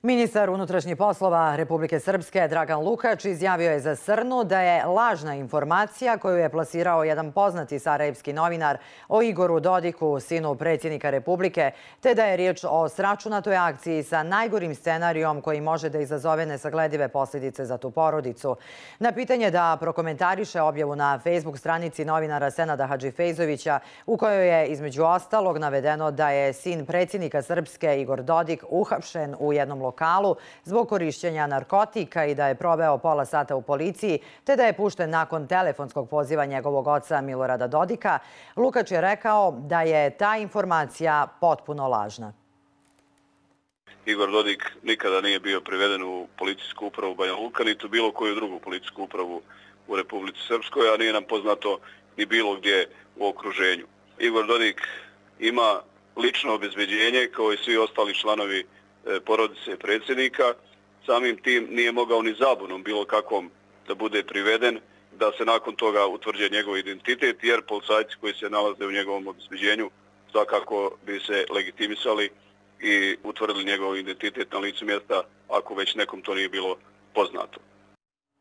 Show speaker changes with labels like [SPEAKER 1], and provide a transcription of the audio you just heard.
[SPEAKER 1] Ministar unutrašnjih poslova Republike Srpske Dragan Lukač izjavio je za Srnu da je lažna informacija koju je plasirao jedan poznati sarajevski novinar o Igoru Dodiku, sinu predsjednika Republike, te da je riječ o sračunatoj akciji sa najgorim scenarijom koji može da izazove nesagledive posljedice za tu porodicu. Na pitanje da prokomentariše objavu na Facebook stranici novinara Senada Hadžifejzovića, u kojoj je između ostalog navedeno da je sin predsjednika Srpske Igor Dodik uhapšen u jednom lokalu zbog korišćenja narkotika i da je proveo pola sata u policiji, te da je pušten nakon telefonskog poziva njegovog oca Milorada Dodika, Lukač je rekao da je ta informacija potpuno lažna.
[SPEAKER 2] Igor Dodik nikada nije bio priveden u policijsku upravu Banja Luka, niti u bilo koju drugu policijsku upravu u Republici Srpskoj, a nije nam poznato ni bilo gdje u okruženju. Igor Dodik ima lično obezbeđenje kao i svi ostali članovi porodice predsjednika. Samim tim nije mogao ni zabunom bilo kakvom da bude priveden, da se nakon toga utvrđuje njegov identitet, jer policajci koji se nalaze u njegovom obezbeđenju svakako bi se legitimisali i utvrdili njegov identitet na licu mjesta ako već nekom to nije bilo poznato.